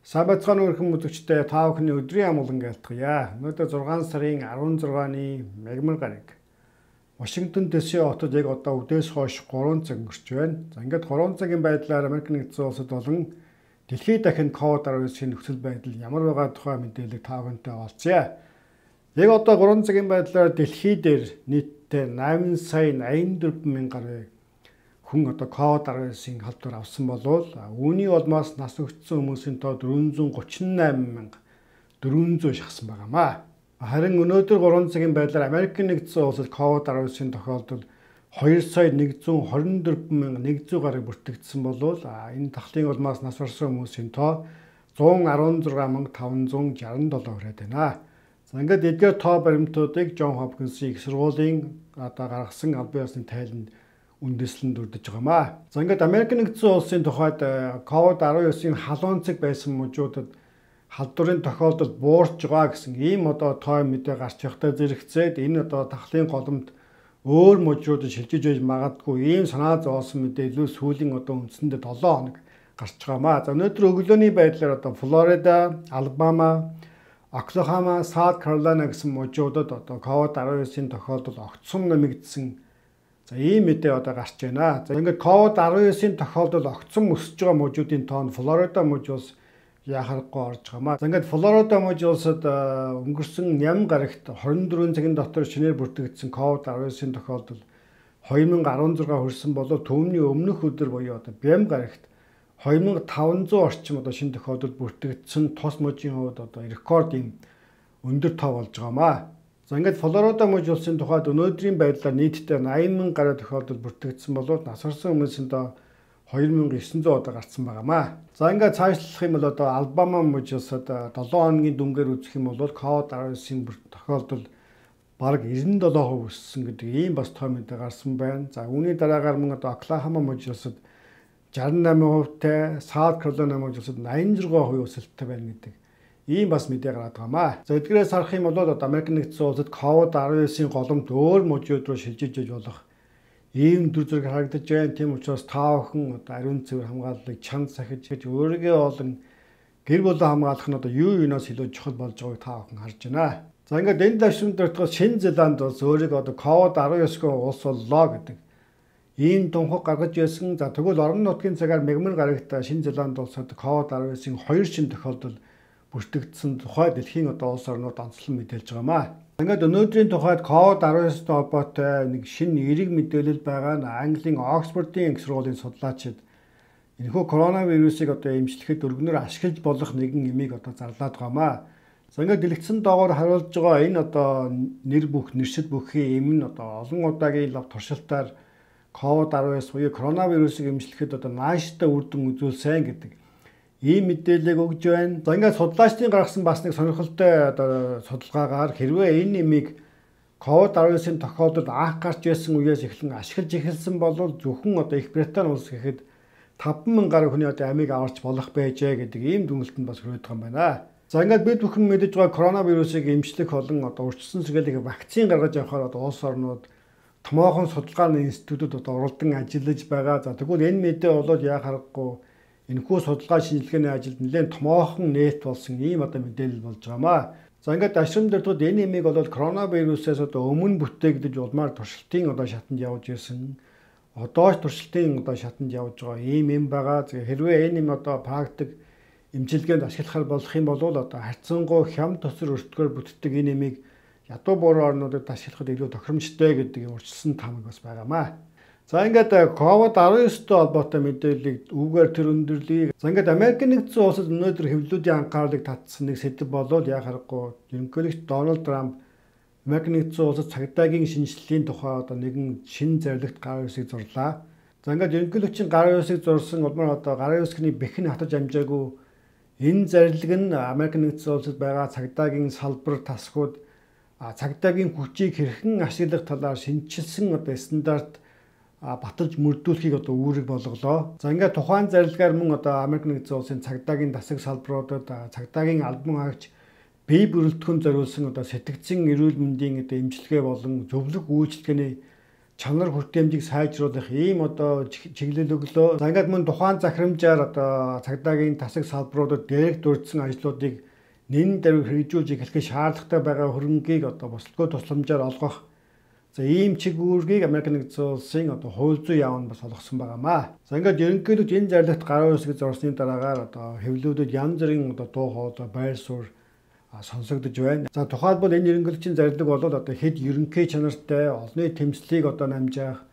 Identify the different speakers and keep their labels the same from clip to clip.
Speaker 1: Сабацхан өрхөн үзэгчтэй та бүхний өдрийн амгалан айлтгая. Өнөөдөр 6 сарын 16-ны мягмар гараг. Вашингтон ДС хотод яг одоо үдээс хойш 3 цаг өнгөрч байна. За ингээд 3 цагийн байдлаар Америк нэгдсэн улсад болон дэлхийд дахин COVID-19-ийн нөхцөл байдал ямар байгаа тухай мэдээлэл та бүхэнтэй олцъя. Яг одоо 3 цагийн байдлаар дэлхий дээр нийтдээ 8 сая 84 мянган гаруй хүн одоо COVID-19-ийн халдвар авсан болвол үүний улмаас нас өгсөн хүмүүсийн тоо 438,400 шахсан байгаамаа. Харин өнөөдөр 3 цагийн байдлаар Америк нэгдсэн улсад COVID-19-ийн тохиолдол 2,124,100 гаруй бүртгэгдсэн болвол энэ тахлын улмаас нас барсан хүмүүсийн тоо 116,567 хүрээд байна. За ингээд эдгээр тоо баримтуудыг Джон Хопкинсийн их сургуулийн одоо гаргасан албан ёсны тайланд үндэслэн дүрдэж байгаамаа. За ингээд Америк нэгдсэн улсын тухайд COVID-19-ийн халуун цэг байсан мужуудад халдварын тохиолдол буурч байгаа гэсэн ийм одоо тоо мэдээ гарч явахдаа зэрэгцээд энэ одоо тахлын голомт өөр мужуудад шилжиж байж магадгүй ийм санаа зовоосон мэдээлэл сүүлийн одоо үндсэндээ 7 хоног гарч байгаамаа. За өнөөдөр өглөөний байдлаар одоо Флорида, Алабама, Оклахома, Саут Каролина гэсэн мужуудад одоо COVID-19-ийн тохиолдол огцом нэмэгдсэн. За ийм мэдээ одоо гарч байна. За ингээд COVID-19-ийн тохиолдол огцом өсөж байгаа мужуудын тоон Флорида муж улс яхахгүй орж байгаамаа. За ингээд Флорида муж улсад өнгөрсөн ням гарагт 24 цагийн дотор шинээр бүртгэгдсэн COVID-19-ийн тохиолдол 2016 хүрсэн болов түүний өмнөх өдөр буюу одоо бям гарагт 2500 орчим одоо шинэ тохиолдол бүртгэгдсэн тус мужийн хувьд одоо рекорд юм өндөр тоо болж байгаамаа. За ингээд Флорида муж улсын тухайд өнөөдрийн байдлаар нийтдээ 80,000 гаруй тохиолдол бүртгэгдсэн болоод нас барсан хүмүүсийн доо 2,900 одоо гарсан байгаамаа. За ингээд цаашлах юм бол одоо Алабама муж улсад 7 хоногийн дүнгээр үзэх юм бол COVID-19-ийн тохиолдол бараг 97% өссөн гэдэг ийм бас тоо мэдээ гарсан байна. За үүний дараагаар мөн одоо Оклахома муж улсад 68%-тай, Саут Каролина муж улсад 86% өсөлттэй байна гэдэг ийм бас мэдээ гараад байгаамаа. За эдгээрээс харах юм бол Америк нэгдсэн улсад COVID-19-ийн голомт өөр мужууд руу шилжиж иж болох ийм дүр зураг харагдаж байна. Тийм учраас та бүхэн одоо ариун цэвэр хамгааллыг чанд сахиж өөрийгөө болон гэр бүлээ хамгаалах нь одоо юунаас илүү чухал болж байгааг та бүхэн харж байна. За ингээд энэ давшин дөртгөөс Шинэ Зеланд улс өөрийгөө одоо COVID-19-гийн улс боллоо гэдэг ийм тунхаг гаргаж байсан. За тэгвэл орон нутгийн цагаар мягмар гарагт Шинэ Зеланд улсад COVID-19-ийн 2 шинэ тохиолдол бүртгэгдсэн тухай дэлхийн одоо улс орнууд онцлон мэдээлж байгаамаа. Ингээд өнөөдрийн тухайд COVID-19-тэй холбоотой нэг шинэ эерэг мэдээлэл байгаа нь Английн Оксфордын их сургуулийн судлаачид энэхүү коронавирусыг одоо эмчлэхэд өргөнөөр ашиглаж болох нэгэн эмийг одоо зарлаад байгаамаа. За ингээд дэлгэцэн доогоор харуулж байгаа энэ одоо нэршил бүхий эм нь одоо олон удаагийн лав туршилтаар COVID-19 буюу коронавирусыг эмчлэхэд одоо нааштай үр дүн үзүүлсэн гэдэг ийм мэдээлэл өгж байна. За ингээд судлаачдын гаргасан бас нэг сонирхолтой одоо судалгаагаар хэрвээ энэ нэмийг COVID-19-ийн тохиолдолд анх гарч байсан үеэс эхлэн ашиглаж эхэлсэн бол зөвхөн одоо Их Британи улс гэхэд 5,000 гаруй хүний одоо амийг аварч болох байжээ гэдэг ийм дүгнэлтэнд бас хүрээд байгаа юм байна. За ингээд бид бүхэн мэдэж байгаа коронавирусыг эмчлэх болон одоо урьдчилан сэргийлэх вакцин гаргаж авахаар одоо улс орнууд томоохон судалгааны институтууд одоо уралдан ажиллаж байгаа. За тэгвэл энэ мэдээ болоод яа харахгүй энэхүү судалгаа шинжилгээний ажилд нэлээд томоохон нээт болсон ийм одоо мэдээлэл болж байгаамаа. За ингээд ашрам дэртүүд энэ нэмийг бол коронавирусээс одоо өмнө бүтээгдэж улмаар туршилтын одоо шатанд явж ирсэн. Одоо ч туршилтын одоо шатанд явж байгаа ийм юм байгаа. Хэрвээ энэ юм одоо практик эмчилгээнд ашиглахаар болох юм бол одоо харьцангуй хямд төсөр өртгөөр бүтдэг энэ нэмийг ядуу бууруу орнуудад ашиглахад илүү тохиромжтой гэдэг урьдчилсан тамга бас байгаамаа. За ингээд COVID-19-тэй холбоотой мэдээллийг үүгээр тэр өндөрлөе. За ингээд Америк нэгдсэн улсад өнөөдөр хэвлэлүүдийн анхаарлыг татсан нэг сэдэв болоод яа харахгүй ерөнхийлөгч Дональд Трамп Америк нэгдсэн улсад цагдаагийн шинжилгээний тухай одоо нэгэн шинэ зорилгот гарын үсгийг зурлаа. За ингээд ерөнхийлөгчийн гарын үсгийг зурсан улмаар одоо гарын үсгийн бэхэн хатаж амжаагүй энэ зорилго нь Америк нэгдсэн улсад байгаа цагдаагийн салбар тасгууд цагдаагийн хүчийг хэрхэн ашиглах талаар шинжилсэн одоо стандарт баталж мөрдүүлэхийг одоо үүрэг болголоо. За ингээд тухайн зарилгаар мөн одоо Америк нэгдсэн улсын цагдаагийн дасаг салбаруудад цагдаагийн албан хаагч бие бүрэлдэхүүн зориулсан одоо сэтгцэн эрүүл мэндийн одоо эмчилгээ болон зөвлөх үйлчилгээний чанар хүртээмжийг сайжруулах ийм одоо чиглэл өглөө. За ингээд мөн тухайн захирамжаар одоо цагдаагийн тасаг салбаруудад дээрх дурдсан ажлуудыг нэн дээр хэрэгжүүлж эхлэх шаардлагатай байгаа хөрөнгийг одоо босдгоо тусламжаар олгох. За ийм чиг үүргийг Америк нэгдсэн улсын одоо хууль зүйн яам нь бас олгосон байгаамаа. За ингээд ерөнхийдөө энэ зарлигт гараа үсгэж зорсны дараагаар одоо хэвлэлүүдэд янз бүрийн одоо дуу хоолой, байр суурь сонсогдож байна. За тухайлбал энэ ерөнхийлөгчийн зарлиг бол одоо хэд ерөнхий чанартай олонний тэмцлийг одоо намжаах,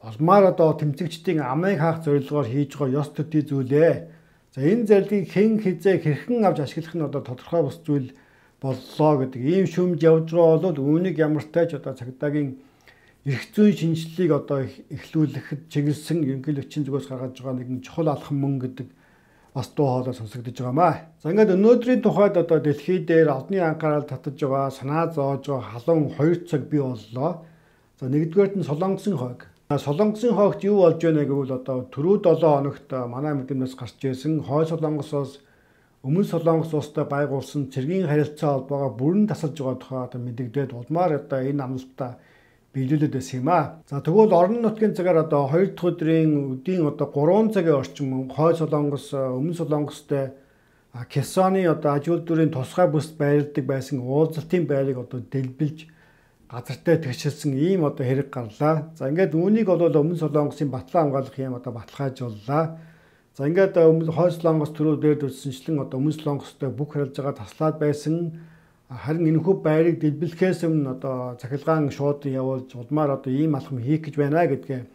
Speaker 1: олмаар одоо тэмцэгчдийн амыг хаах зорилгоор хийж байгаа ёс төдий зүйлээ. За энэ зарлигийг хэн хизээ хэрхэн авч ашиглах нь одоо тодорхой бус зүйл боллоо гэдэг ийм шүмж явж байгаа бол үүнийг ямартай ч одоо цагдаагийн эрх зүйн шинжилгээг одоо эхлүүлэхэд чиглэсэн ерөнхийлөгчийн зүгээс гаргаж байгаа нэгэн чухал алхам мөн гэдэг бас дуу хоолой сонсогдож байгаамаа. За ингээд өнөөдрийн тухайд одоо дэлхий дээр одны анхаарал татаж байгаа, санаа зоож байгаа халуун 2 цаг бий боллоо. За нэгдүгээрт нь Солонгосын хойг. Солонгосын хойгт юу болж байна гэвэл одоо түрүү 7 хоногт манай мэдээлэлээс гарч ирсэн Хойд Солонгосоос Өмнөд Солонгос улстай байгуулсан цэргийн харилцаа холбоогоо бүрэн тасалж байгаа тухай одоо мэдэгдээд улмаар одоо энэ амлалтаа биелүүлээд байсан юм аа. За тэгвэл орон нутгийн цагаар одоо 2 дахь өдрийн өдийн одоо 3 цагийн орчим Хойд Солонгос, Өмнөд Солонгостой Кесоны одоо аж үйлдвэрийн тусгай бүсд байрладаг байсан уулзалтын байрыг одоо дэлбэлж газартай тэгшилсэн ийм одоо хэрэг гарлаа. За ингээд үүнийг бол Өмнөд Солонгосын батлан хамгаалах юм одоо баталгаажууллаа. За ингээд Хойд Солонгос төрөө дээр дүрсэнчлэн одоо Өмнөд Солонгостой бүх харилцаагаа таслаад байсан. Харин энэхүү байрыг дэлбэлэхээс өмнө одоо цахилгаан шууд явуулж улмаар одоо ийм алхам хийх гэж байна гэдгээ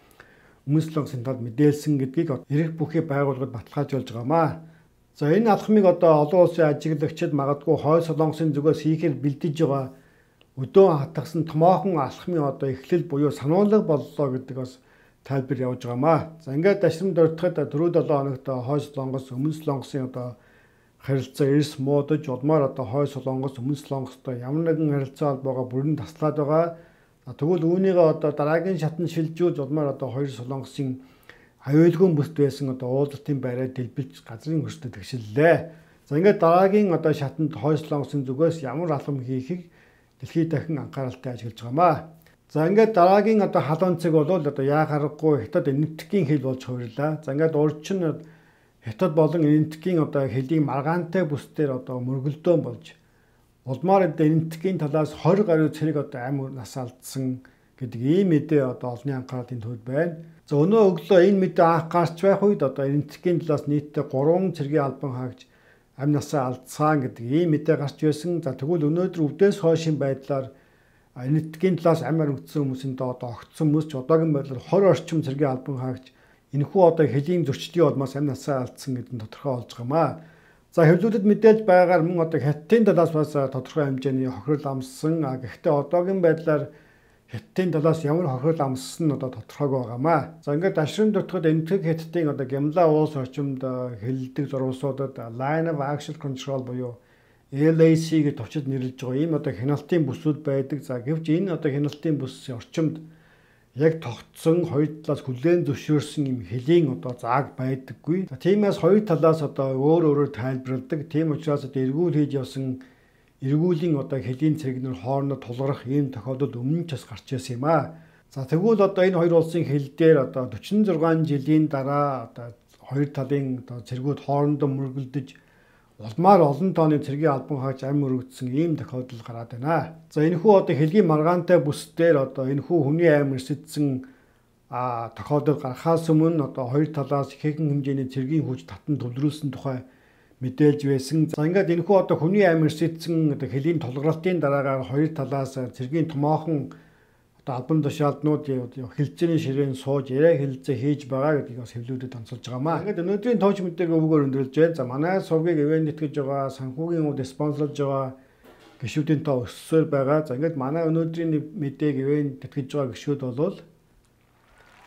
Speaker 1: Өмнөд Солонгосын талд мэдээлсэн гэдгийг эрх бүхий байгууллагад баталгаажуулж байгаамаа. За энэ алхмыг одоо олон улсын ажиглагчид магадгүй Хойд Солонгосын зүгээс хийхээр бэлдэж байгаа өдөө хатгсан томоохон алхмын одоо эхлэл буюу сануулга боллоо гэдэг бас тайлбар явуулж байгаамаа. За ингээд дашрамд ордоход 4-7 хоногт Хойд Солонгос, Өмнөд Солонгосын одоо харилцаа эрс муудаж улмаар одоо Хойд Солонгос, Өмнөд Солонгостой ямар нэгэн харилцаа холбоогоо бүрэн таслаад байгаа. Тэгвэл үүнийгээ одоо дараагийн шатанд шилжүүлж улмаар одоо Хойд Солонгосын аюулгүй бүсд байсан одоо уулзалтын байраа дэлбэлж газрын хөрсдөд тэгшиллээ. За ингээд дараагийн одоо шатанд Хойд Солонгосын зүгээс ямар алхам хийхийг дэлхийд дахин анхааралтай ажиглаж байгаамаа. За ингээд дараагийн одоо халуун цэг бол одоо яа харахгүй хятад энэтхэгийн хил болж хувирлаа. За ингээд урьдчин Хятад болон энэтхэгийн одоо хэлийг маргаантай бүсдээр одоо мөргөлдөөн болж улмаар энэтхэгийн талаас 20 гаруй цэрэг одоо амь нас алдсан гэдэг ийм мэдээ одоо олонний анхаарлын төвд байна. За өнөө өглөө энэ мэдээ анх гарч байх үед одоо энэтхэгийн талаас нийтдээ 3 цэргийн албан хаагч амь насаа алдсан гэдэг ийм мэдээ гарч байсан. За тэгвэл өнөөдөр өвдөөс хойшийн байдлаар энэтхэгийн талаас амь аригдсан хүмүүсийн одоо огтсон хүмүүс ч одоогийн байдлаар 20 орчим цэргийн албан хаагч энэхүү одоо хэлийн зөрчлийн улмаас амь насаа алдсан гэдэг нь тодорхой болж байгаамаа. За хэвлүүдэд мэдээлж байгаагаар мөн одоо Хятадын талаас бас тодорхой хэмжээний хохирол амссан. Гэхдээ одоогийн байдлаар Хятадын талаас ямар хохирол амссан нь одоо тодорхойг байгаамаа. За ингээд дашрын дутгад энэтхэг Хятадын одоо Гямла уус орчимд хэлэлдэг зурвалсуудад Line of Action Control буюу LAC гэж товчид нэрлэж байгаа ийм одоо хяналтын бүсүүд байдаг. За гэвч энэ одоо хяналтын бүсийн орчимд яг тогтсон хоёр талаас хүлээн зөвшөөрсөн юм хэлийн одоо зааг байдаггүй. За тиймээс хоёр талаас одоо өөр өөрөөр тайлбарладаг. Тийм учраас одоо эргүүл хийж явсан эргүүлийн одоо хэлийн цэрэгнэр хоорондоо тулгарх ийм тохиолдол өмнө ч бас гарч ирсэн юм аа. За тэгвэл одоо энэ хоёр улсын хил дээр одоо 46 жилийн дараа одоо хоёр талын одоо цэргүүд хоорондоо мөргөлдөж улмаар олон тооны цэргийн албан хаагч амь өргөдсөн ийм тохиолдол гараад байна. За энэхүү одоо хэлгийн маргаантай бүсдээр одоо энэхүү хүний амь өрсөдсөн тохиолдол гарахаас өмнө одоо хоёр талаас ихээхэн хэмжээний цэргийн хүч татан төвлөрүүлсэн тухай мэдээлж байсан. За ингээд энэхүү одоо хүний амь өрсөдсөн одоо хэлийн тулгарлалтын дараагаар хоёр талаас цэргийн томоохон одоо албан тушаалднууд хэлцээний ширээн сууж яриа хэлэлцээ хийж байгаа гэдгийг бас хэвлүүдэд онцолж байгаамаа. Ингээд өнөөдрийн товч мэдээг өвгөөр өндөрлж байна. За манай сувгийг ивент нэтгэж байгаа, санхүүгийн үд спонсорлж байгаа гишүүдийн тоо өссөөр байгаа. За ингээд манай өнөөдрийн мэдээг ивент нэтгэж байгаа гишүүд бол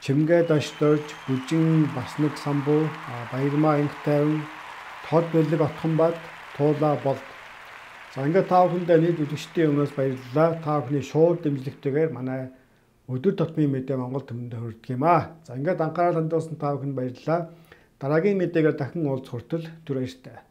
Speaker 1: Чимгээ Дашторж, Бүжин Баснаг Самбуу, Баярмаа Инх тайван, Тод Бэлэг Отхонбат, Туула Болд. За ингээд та бүхэндээ нийт үзэгчдийн өмнөөс баярлалаа. Та бүхний шууд дэмжлэгтэйгээр манай өдөр тутмын мэдээ Монгол төмөндө хүрдэг юм аа. За ингээд анхаарал хандуулсан та бүхэнд баярлалаа. Дараагийн мэдээгээр дахин уулзах хүртэл түр баяртай.